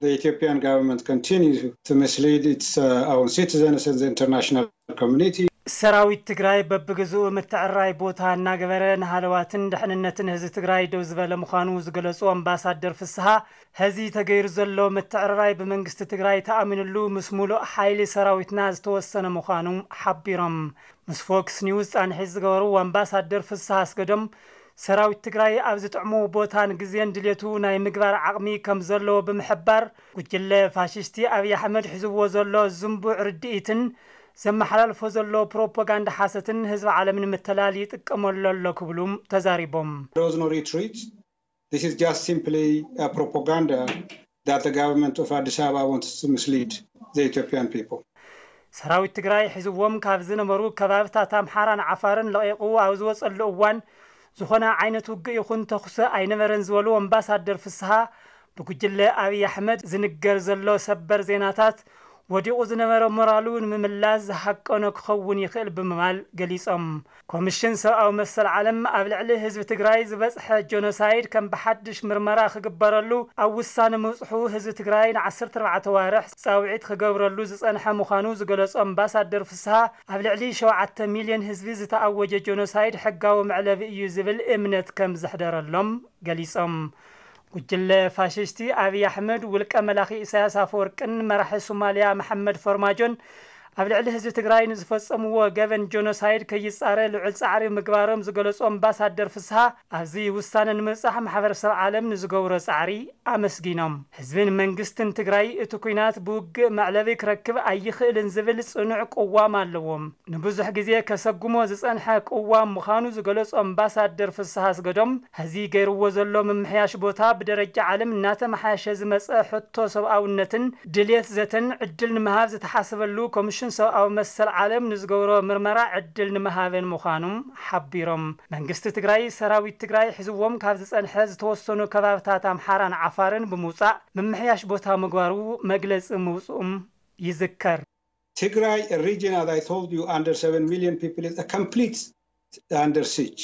The Ethiopian government continues to mislead its uh, own citizens and the international community. ሰራዊት ትግራይ በብግዝኡ ምትዕራይ ቦታ እናገበረ ንሃለዋትን ድሕንነትን ህዝቢ ትግራይ ደው ዝበለ ምዃኑ ዝገለጹ ኣምባሳደር ፍስሃ፣ ሀዚ ተገይሩ ዘሎ ምትዕርራይ ብመንግስቲ ትግራይ ተኣሚንሉ ምስ ሙሉእ ሓይሊ ሰራዊትና ዝተወሰነ ምዃኑ ሓቢሮም። ምስ ፎክስ ኒውስ ፃንሒት ዝገበሩ ኣምባሳደር ፍስሃ ኣስገዶም፣ ሰራዊት ትግራይ ኣብ ዝጥዕሙ ቦታን ግዜን ድሌቱ ናይ ምግባር ዓቕሚ ከም ዘለዎ ብምሕባር፣ ጉጅለ ፋሽስቲ ኣብይ ኣሕመድ ሒዝዎ ዘሎ ዝንቡዕ ርድኢትን ዘመሓላልፎ ዘሎ ፕሮፓጋንዳ ሓሰትን ህዝቢ ዓለም ንምትላል ይጥቀመሉ ኣሎ ክብሉ ተዛሪቦም። There was no retreat. This is just simply a propaganda that the government of Addis Ababa wants to mislead the Ethiopian people. ሰራዊት ትግራይ ሒዝዎም ካብ ዝነበሩ ከባብታት ኣምሓራን ዓፋርን ለቒቑ ኣብ ዝወፀሉ እዋን ዝኾነ ዓይነት ውግእ ይኹን ተኹሲ ኣይነበረን ዝበሉ ኣምባሳደር ፍስሃ፣ ብጉጅለ ኣብይ ኣሕመድ ዝንገር ዘሎ ሰበር ዜናታት ወዲቑ ዝነበረ ሞራሉ ንምምላስ ዝሃቀኖ ክኸውን ይኽእል ብምባል ገሊጾም። ኮሚሽን ሰብኣዊ መሰል ዓለም ኣብ ልዕሊ ህዝቢ ትግራይ ዝበጽሐ ጆኖሳይድ ከም ብሓድሽ ምርመራ ክግበረሉ ኣብ ውሳነ ምብጽሑ ህዝቢ ትግራይ ን14 ኣዋርሕ ጻውዒት ክገብረሉ ዝጸንሐ ምዃኑ ዝገለጹ ኣምባሳደር ፍስሃ፣ ኣብ ልዕሊ 7 ሚልዮን ህዝቢ ዝተኣወጀ ጆኖሳይድ ሕጋዊ መዕለቢ እዩ ዝብል እምነት ከም ዘሕደረሎም ገሊጾም። ጉጅለ ፋሽስቲ ኣብይ ኣሕመድ ውልቀ መላኺ ኢሳያስ ኣፈወርቅን መራሒ ሶማልያ መሓመድ ፎርማጆን ኣብ ልዕሊ ህዝቢ ትግራይ ንዝፈጸምዎ ገበን ጆኖሳይድ ከይጻረ ልዑል ጻዕሪ ምግባሮም ዝገለጹ ኣምባሳደር ፍስሃ፣ ኣብዚ ውሳነ ንምብጻሕ ማሕበረሰብ ዓለም ንዝገብሮ ጻዕሪ ኣመስጊኖም። ህዝብን መንግስትን ትግራይ እቲ ኲናት ብውግእ መዕለቢ ክረክብ ኣይኽእልን ዝብል ጽኑዕ ቅዋም ኣለዎም። ንብዙሕ ግዜ ከሰጉሞ ዝጸንሐ ቅዋም ምዃኑ ዝገለጹ ኣምባሳደር ፍስሃ ኣስገዶም፣ ሀዚ ገይርዎ ዘሎ ምምሕያሽ ቦታ ብደረጃ ዓለም እናተመሓየሸ ዝመጸ ሕቶ ሰብኣውነትን ድልየት ዘተን ዕድል ንምሃብ ዝተሓሰበሉ ኮሚሽን ሰብኣዊ መሰል ዓለም ንዝገብሮ ምርመራ ዕድል ንምሃብን ምዃኑ ሓቢሮም። መንግስቲ ትግራይ ሰራዊት ትግራይ ሒዝዎም ካብ ዝጸንሐ ዝተወሰኑ ከባብታት ኣምሓራን ዓፋርን ብምውጻእ ምምሕያሽ ቦታ ምግባሩ መግለጺ ምውጽኡም ይዝከር። Tigray, a region, as I told you, under 7 million people, is a complete under siege.